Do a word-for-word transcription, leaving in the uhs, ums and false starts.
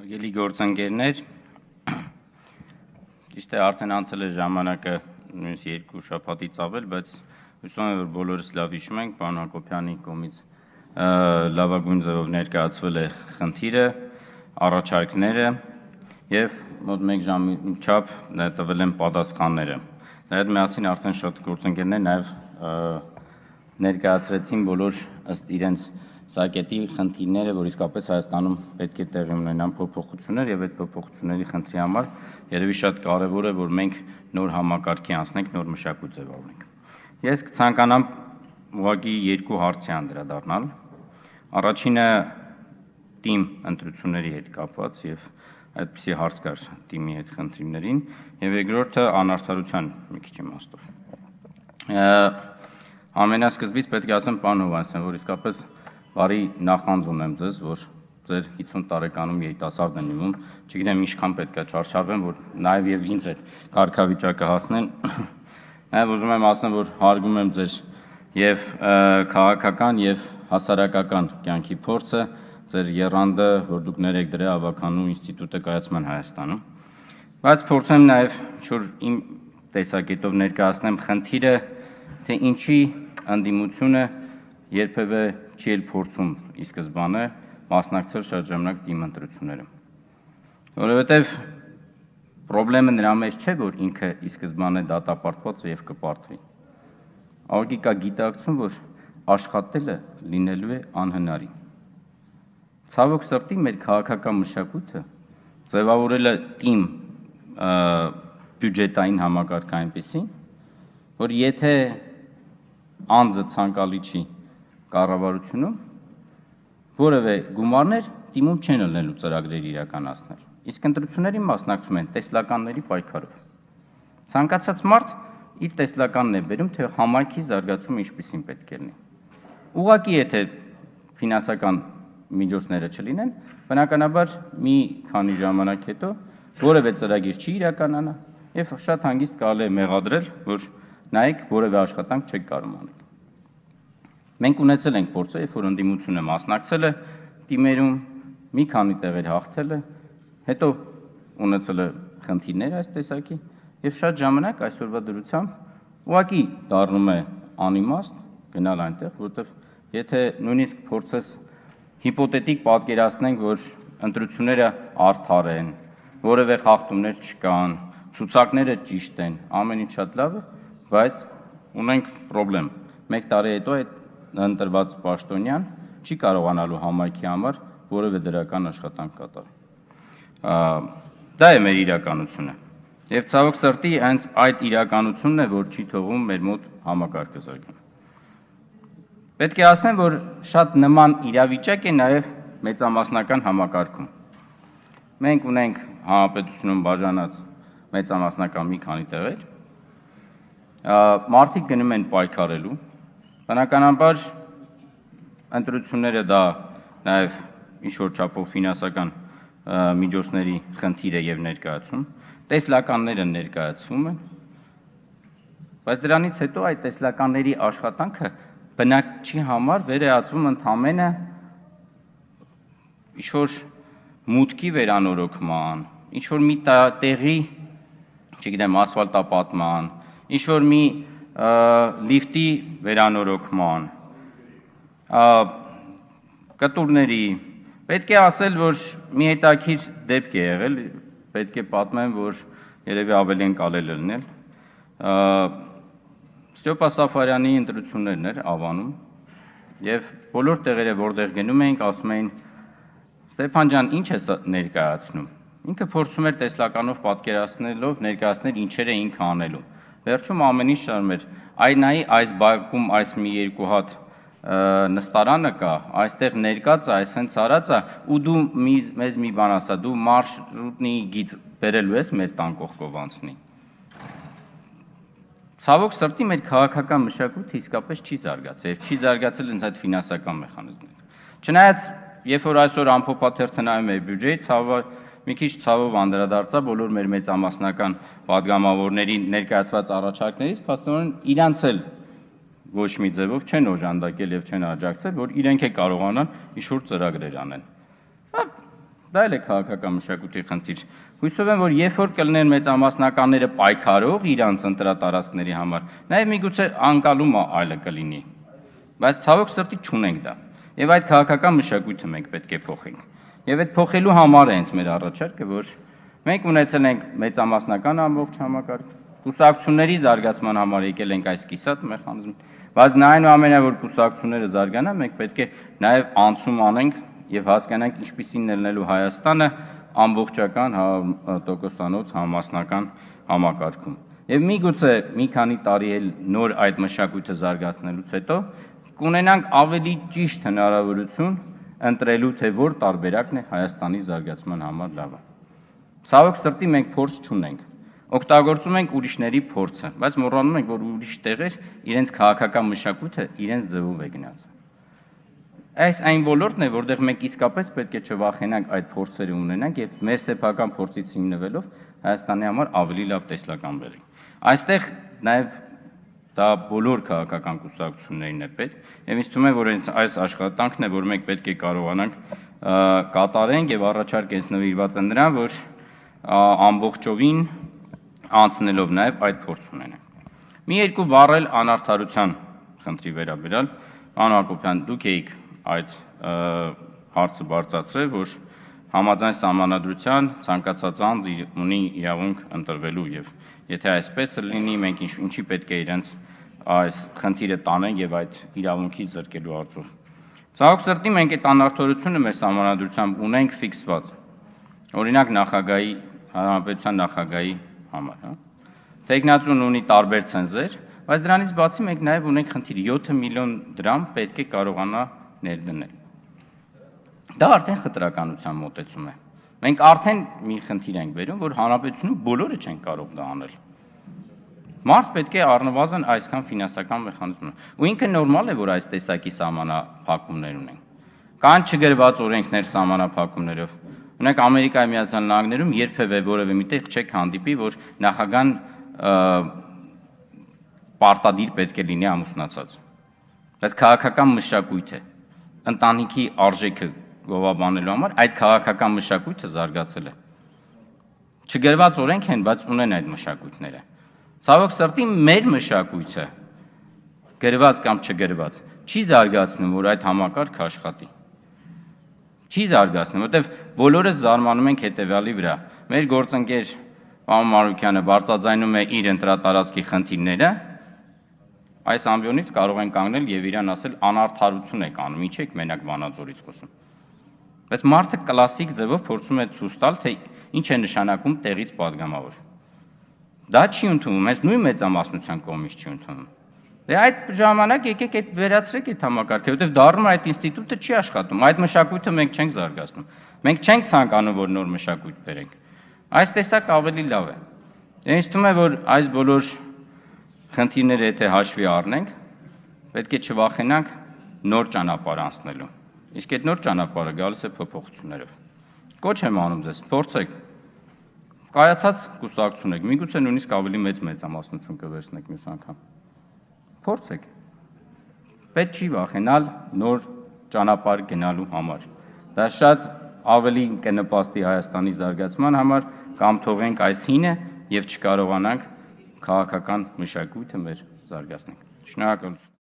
Հարգելի գործընկերներ, ճիշտ է արդեն անցել է ժամանակը նույնիսկ երկու շաբաթից ավել, բայց հուսով եմ, որ բոլորս լավ հիշում ենք, պարոն Հակոբյանի կողմից լավագույն ձևով ներկայացվել է խնդիրը, առաջարկները եւ մոտ մեկ ժամի չափ տվել են պատասխանները։ Դրա հետ միասին արդեն շատ գործընկերներ նաեւ ներկայացրեցին բոլոր ըստ իրենց սակետի խնդիրները, որ իսկապես Հայաստանում պետք է տեղի ունենան փոփոխություններ եւ այդ փոփոխությունների խնդրի համար երևի շատ կարեւոր է, որ մենք նոր համակարգի անցնենք, նոր մշակույթ ձևավորենք։ Ես կցանկանամ ուղղակի երկու հարցի անդրադառնալ։ Առաջինը թիմ ընտրությունների հետ կապված եւ այդպիսի հարց կար թիմի հետ խնդիրներին եւ երկրորդը անարդարության մի քիչ իմաստով։ Ամենասկզբից պետք է ասեմ, պարոն Հովհաննիսյան, որ իսկապես բարի նախանձ ունեմ ձեզ, որ ձեր հիսուն տարեկանում երիտասարդ են իմում, չգիտեմ ինչքան պետք է չարչարվեմ, որ նաև եւ ինձ այդ կարգավիճակը հասնեն։ Նաև ուզում եմ ասեմ, որ հարգում եմ ձեր եւ քաղաքական եւ հասարակական կյանքի փորձը, ձեր եռանդը, որ դուք ներեք դրա ավականու ինստիտուտը կայացման Հայաստանում։ Բայց փորձեմ նաև ինչ-որ իմ տեսակետով ներկայացնեմ խնդիրը, թե ինչի անդիմությունը երբևէ չի էլ փորձում ի սկզբանե մասնակցել շատ ժամանակ թիմ ընտրությունները։ Որովհետև խնդրեմը նրա մեջ չէ, որ ինքը ի սկզբանե դատապարտված է եւ կպարտվի։ Աղի կա գիտակցում, որ աշխատելը լինելու է անհնարին։ Ցավոք սրտի մեր քաղաքական մշակույթը ձևավորել է թիմ բյուջետային համակարգ այնպեսին, որ եթե անձը ցանկալի չի կառավարությունում որևէ գումարներ թիմում չեն ելնելու ծրագրեր իրականացնել։ Իսկ ընտրությունների մասնակցում են տեսլականների պայքարով։ Ցանկացած մարդ իր տեսլականն է բերում, թե համայնքի զարգացումը ինչպիսին պետք է լինի։ Ուղղակի եթե ֆինանսական միջոցները չլինեն, բնականաբար մի քանի ժամանակ հետո որևէ ծրագիր չի իրականանա եւ շատ հանգիստ կարելի է մեղադրել, որ նայեք որևէ աշխատանք չեք կարող անել։ Մենք ունեցել ենք փորձը, երբ որ ընդդիմությունը մասնակցել է թիմերում, մի քանի տեղեր հաղթել է, հետո ունեցել է խնդիրներ այս տեսակի եւ շատ ժամանակ այսօրվա դրությամբ ուղղակի դառնում է անիմաստ գնալ այնտեղ, որովհետեւ եթե նույնիսկ փորձես հիպոթետիկ պատկերացնենք, որ ընտրությունները արդար են, որևէ խախտումներ չկան, ցուցակները ճիշտ են, ամեն ինչ շատ լավ է, բայց ունենք խնդրեմ։ Մեկ տարի հետո այդ ընտրված պաշտոնյան չի կարողանալու համայնքի համար որևէ դրական աշխատանք կատարել։ Դա է մեր իրականությունը։ Եվ ցավոք սրտի հենց այդ իրականությունն է, որ չի թողում մեր մոտ համակարգը զարգանալ։ Պետք է ասեմ, որ շատ նման իրավիճակ է նաև մեծամասնական համակարգում։ Մենք ունենք հանրապետությունում բաժանած մեծամասնական մի քանի տեղեր։ Մարդիկ գնում են պայքարելու, բնականաբար ընտրությունները դա նաև ինչ-որ չափով ֆինանսական միջոցների խնդիր է եւ ներկայացում, տեսլականները ներկայացվում են, բայց դրանից հետո այդ տեսլականների աշխատանքը բնակչի համար վերածվում ընդամենը ինչ-որ մուտքի վերանորոգման, ինչ-որ մի տեղի, չգիտեմ, ասֆալտապատման, ինչ-որ մի լիֆտի վերանորոգման, կտուրների, պետք է ասել, որ մի հետաքրքիր դեպք է եղել, պետք է պատմեմ, որ երևի ավելի ընկալել է լինել։ Ստեփա Սաֆարյանի ընտրություններն էր Ավանում, եւ բոլոր տեղերը, որտեղ գնում էինք, ասում էին. Ստեփան ջան, ինչ է ներկայացնում։ Ինքը փորձում էր տեսլականով պատկերացնելով ներկայացնել ինչեր է ինքը անելու։ Վերջում ամեն ինչ շարում էր, այ նայի այս բակում այս մի երկու հատ նստարանը կա, այստեղ ներկած է, այս հենց արած է, ու դու մեզ մի բան ասա, դու մարշրուտնի գիծ բերելու ես մեր տան կողքով անցնի։ Ցավոք սրտի մեր քաղաքական մշակույթը իսկապես չի զարգացել, եւ չի զարգացել հենց այդ ֆինանսական մեխանիզմները։ Չնայած, երբ որ այսօր ամփոփաթերթը նայում է բյուջեի, ցավը մի քիչ ցավով անդրադարձա բոլոր մեր մեծամասնական պատգամավորների ներկայացված առաջարկներից, փաստորեն իրանց էլ ոչ մի ձևով չեն օժանդակել եւ չեն աջակցել, որ իրենք է կարողանան ինչ-որ ծրագրեր անեն։ Դա էլ է քաղաքական մշակույթի խնդիր։ Հույսով եմ, որ երբ որ կլինեն մեծամասնականները պայքարող իրանց ընտրատարածքների համար, նաև միգուցե անկալումը այլը կլինի։ Բայց ցավոք սրտի չունենք դա։ Եվ այդ քաղաքական մշակույթը մենք պետք է փոխենք։ Եվ այդ փոխելու համար է հենց մեր առաջարկը, որ մենք ունեցել ենք մեծամասնական ամբողջ համակարգ, կուսակցությունների զարգացման համար եկել ենք այս կիսատ մեխանիզմ, բայց այնուամենայնիվ որ կուսակցությունները զարգանան, մենք պետք է նաև անցում անենք եւ հասկանանք ինչպիսին ելնելու Հայաստանը ամբողջական տոկոսանոց համասնական համակարգում։ Եվ միգուցե մի քանի տարի էլ նոր այդ մշակույթը զարգացնելուց հետո կունենանք ավելի ճիշտ հնարավորություն ընտրելու, թե որ տարբերակն է Հայաստանի զարգացման համար լավը։ Ցավոք սրտի մենք փորձ չունենք, օգտագործում ենք ուրիշների փորձը, բայց մոռանում ենք, որ ուրիշ տեղեր իրենց քաղաքական մշակույթը իրենց ձևով է գնաց։ Այս այն ոլորտն է, որտեղ մենք իսկապես պետք է չվախենանք այդ փորձերը ունենանք եւ մեր սեփական փորձից հիմնվելով Հայաստանի համար ավելի լավ տեսլական բերենք։ Այստեղ նաեւ դա բոլոր քաղաքական կուսակցություններին է պետք եւ ինձ թվում է, որ այս աշխատանքն է, որ մենք պետք է կարողանանք կատարենք եւ առաջարկը հենց նվիրված է նրան, որ ամբողջովին անցնելով նաեւ այդ փորձ ունենանք։ Մի երկու բառ էլ անարդարության խնդրի վերաբերյալ, պարոն Հակոբյան, դուք եք այդ հարցը բարձրացրել, որ համաձայն սահմանադրության ցանկացած անձ ունի իրավունք ընտրվելու եւ եթե այսպես լինի, մենք ինչի պետք է իրենց այս խնդիրը տանենք եւ այդ իրավունքից զրկելու հարցով։ Ցավոք սրտի մենք այդ անարդարությունը մեր սահմանադրությամբ ունենք ֆիքսված։ Օրինակ նախագահի հանրապետության նախագահի համար, հա։ Տեխնացուն ունի տարբեր ցենզեր, բայց դրանից բացի մենք նաեւ ունենք խնդիր յոթ միլիոն դրամ պետք է կարողանա ներդնել։ Դա արդեն խտրականության մոտեցում է։ Մենք արդեն մի խնդիր ենք բերում, որ հանրապետությունում բոլորը չեն կարող դա անել։ Մարդ պետք է առնվազն այսքան ֆինանսական մեխանիզմ ունենա։ Ու ինքը նորմալ է, որ այս տեսակի սահմանափակումներ ունեն։ Կան չգրված օրենքներ սահմանափակումներով։ Ունեք Ամերիկայի Միացյալ Նահանգներում երբևէ որևէ միտեղ չեք հանդիպի, որ նախագահան պարտադիր պետք է լինի ամուսնացած։ Բայց քաղաքական մշակույթ է։ Ընտանիքի արժեքը գովաբանելու համար այդ քաղաքական մշակույթը զարգացել է։ Չգրված օրենք են, բայց ունեն այդ մշակույթները։ Ցավոք սրտի մեր մշակույթը գրված կամ չգրված չի զարգացնում, որ այդ համակարգը աշխատի։ Չի զարգացնում, որտեվ բոլորս զարմանում ենք հետևյալի վրա։ Մեր գործընկեր պարոն Մարուկյանը բարձրաձայնում է իր ընտրատարածքի խնդիրները, այս ամբիոնից կարող են կանգնել եւ իրան ասել անարդարություն եք անում, ինչ եք մենակ Վանաձորից խոսում։ Բայց մարդը կլասիկ ձևով փորձում է ցույց տալ, թե ինչ է նշանակում տեղից падգամավոր։ Դա չի ընդունվում, այս նույն մեծամասնության կողմից չի ընդունվում։ Դե այդ ժամանակ եկեք այդ վերացրեք այդ համակարգը, որովհետեւ դառնում է այդ ինստիտուտը չի աշխատում, այդ մշակույթը մենք չենք զարգացնում։ Մենք չենք ցանկանում, որ նոր մշակույթ բերենք։ Այս տեսակ ավելի լավ է։ Ինձ թվում է, որ այս բոլոր խնդիրները եթե հաշվի առնենք, պետք է չվախենանք նոր ճանապարհ անցնելու։ Իսկ այդ նոր ճանապարհը գալիս է փոփոխություններով։ Կոչ եմ անում ձեզ, փորձեք։ Կայացած կուսակցություն եք, միգուցե նույնիսկ ավելի մեծ մեծամասնություն կվերցնեք մյուս անգամ։ Փորձեք։ Պետք չի վախենալ նոր ճանապարհ գնալու համար։ Դա շատ ավելի կնպաստի Հայաստանի զարգացման համար, կամ թողենք այս հինը եւ չկարողանանք քաղաքական մշակույթը մեր զարգացնենք։ Շնորհակալություն։